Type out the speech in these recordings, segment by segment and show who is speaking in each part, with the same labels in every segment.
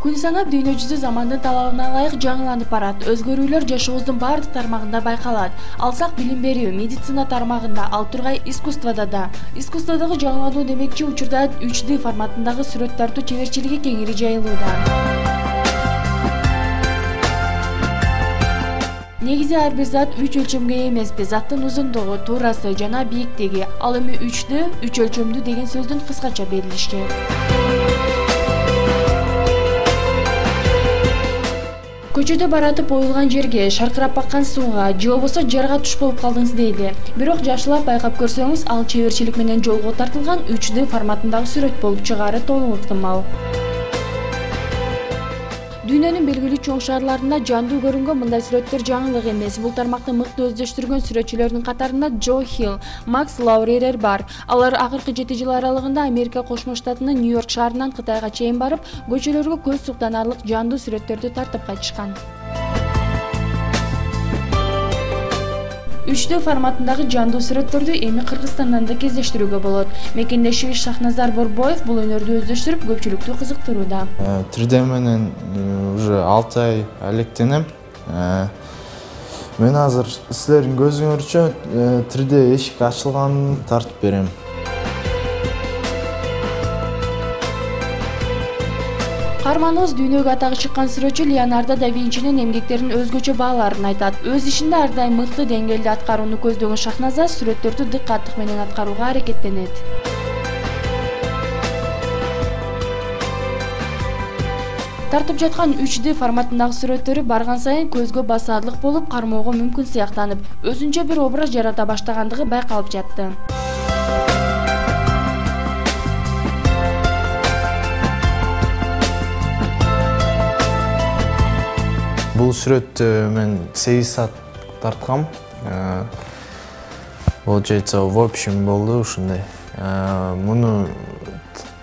Speaker 1: Күн санап дүйнө жүзү замандын талабына ылайык жаңыланып барат. Өзгөрүүлөр жашообуздун баардык тармагында байкалат. Алсак билим берүү, медицина тармагында, ал тургай искусствода да. Искусстводогу жаңылануу демекчи учурда 3D форматындагы сүрөт тартуу чеберчилиги кеңири жайылууда. Негизи ар бир зат 3 өлчөмгө эмеспи, заттын узундугу, туурасы жана бийиктиги. Ал эми 3D, 3 өлчөмдүү деген сөздүн кыскача берилиши. Көчөдө баратып оюлган жерге, шаркырап аккан сууга, же болбосо жарга туш болуп калдыңыз дейли. Бирок жакшылап байкап көрсөңүз, ал чеберчилик менен жолго тартылган 3D форматындагы сүрөт болуп чыгаары толук ыктымал. Дүйнөнүн белгилүү чоң шаарларында жандуу көрүнгөн мындай сүрөттөр жаңылык эмес. Бул тармакты мыкты өздөштүргөн сүрөтчүлөрдүн катарында Джо Хилл, Макс Лауререр бар. Алар акыркы 7 жыл аралыгында Америка Кошмо Штатынын Нью-Йорк шаарынан Кытайга чейин барып, көчөлөргө көз суктанарлык жандуу сүрөттөрдү тартып кайтышкан. 3D форматындагы жандуу сүрөттөрдү эми Кыргызстандан да кездештирүүгө болот. Мекендешибиз Шахназар Борбоев бул өнөрдү өздөштүрүп, көпчүлүктү кызыктырууда.
Speaker 2: 3D менен уже 6 ай алектенем. Мен азыр силердин көзүңөрчө 3D эшик ачылганын тартып берем.
Speaker 1: Каарманыбыз дүйнөгө атагы чыккан сүрөтчү Леонардо да Винчинин эмгектеринин өзгөчө бааларын айтат. Өз ишинде ар дайым мыкты деңгээлде аткарууну көздөгөн Шахназар сүрөттөрдү дыкаттык менен аткарууга аракеттенет. Тартып жаткан 3D форматындагы сүрөттөрү барган сайын көзгө басаарлык болуп, кармоого мүмкүн сыяктанып, өзүнчө бир образ жарата баштагандыгы байкалып жатты.
Speaker 2: Бул сүрөттү мен 8 саат тарткам. Получается, в общем болду ушундай. Муну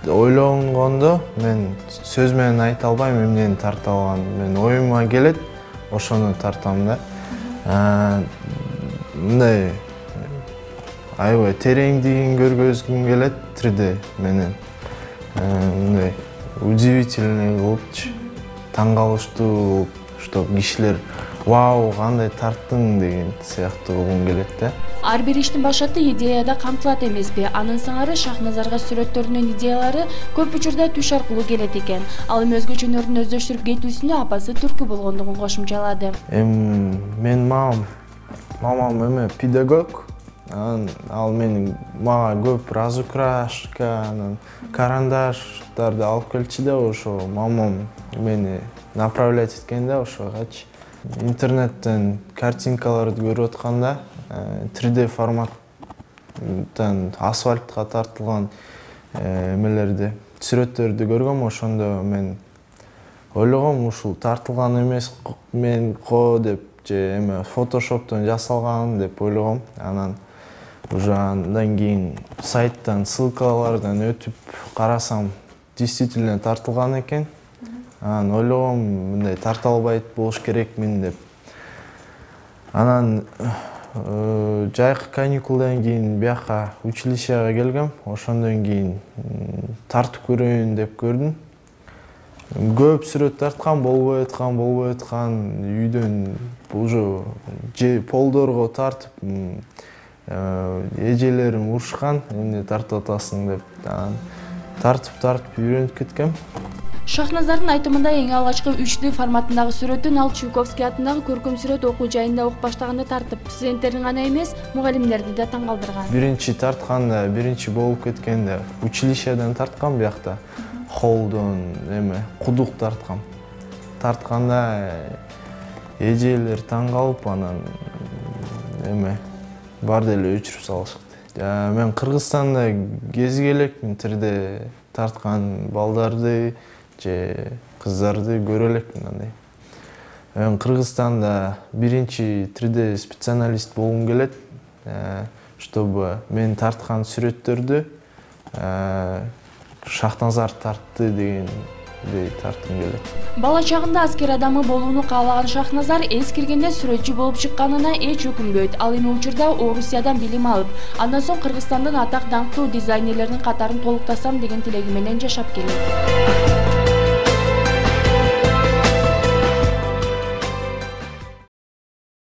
Speaker 2: ойлонгондо мен сөз менен айта албайм эмнени тарта алган. Мен оюма келет, ошону тартам да. Мындай аябай тереңдигин көргөзгүм келет 3D менен. Мындай удивительный кылыпчы, таң калыштуу, чтоб кишилер вау, кандай тарттың деген сыяктуу болгум келет да.
Speaker 1: Ар бир иштин башаты идеяда камтылат эмеспи? Анын сыңары Шахназарга сүрөттөрүнүн идеялары көп учурда түш аркылуу келет экен. Ал эми өзгөчө өнөрүн өздөштүрүп кетүүсүнө апасы түрткү болгондугун кошумчалады.
Speaker 2: Мен мамам эме педагог. Ал мага көп разукрашка, карандаштарды алып келчү да, ошо мамам мени направлять эткенде ошогачы. Интернеттен картинкаларды көрүп атканда 3D форматтан асфальтка тартылган эмелерди, сүрөттөрдү көргөм, ошондо мен ойлогом ушул тартылган эмес мен деп же эме фотошоптон жасалган деп ойлогом. Анан уже андан кийин сайттан ссылкалардан өтүп карасам, действительно тартылган экен. Анан ойлогом, мындай тарта албайт болуш керекмин деп. Анан жайкы каникулдан кийин бияка училищеге келгем. Ошондон кийин тартып көрөйүн деп көрдүм. Көп сүрөт тарткан, болбой аткан, үйдөн уже полдорго тартып, эжелерим урушкан, эмне тартып атасың деп. Тартып үйрөнүп кеткем.
Speaker 1: Шахназардын айтымында эң алгачкы 3D форматындагы сүрөтүн ал Чуйковский атындагы көркөм сүрөт окуу жайында окуп баштаганда тартып, студенттердин гана эмес, мугалимдерди да таң калтырган.
Speaker 2: Биринчи тартканда, биринчи болуп кеткенде училищеден тарткам, биякта холдон эме кудук тарткам. Тартканда эжелер таң калып, анан эме бар деле өчүрүп салышты. Мен Кыргызстанда кезиге элекмин 3D тарткан балдарды же кыздарды көрө элекмин андай. Мен Кыргызстанда биринчи 3D специалист болгум келет, чтобы мен тарткан сүрөттөрдү Шахназар тартты дегендей тарткым келет.
Speaker 1: Бала чагында аскер адамы болууну каалаган Шахназар эс киргенде сүрөтчү болуп чыкканына эч өкүнбөйт. Ал эми учурда Орусиядан билим алып, андан соң Кыргызстандын атак даңктуу дизайнерлеринин катарын толуктасам деген тилеги менен жашап келет.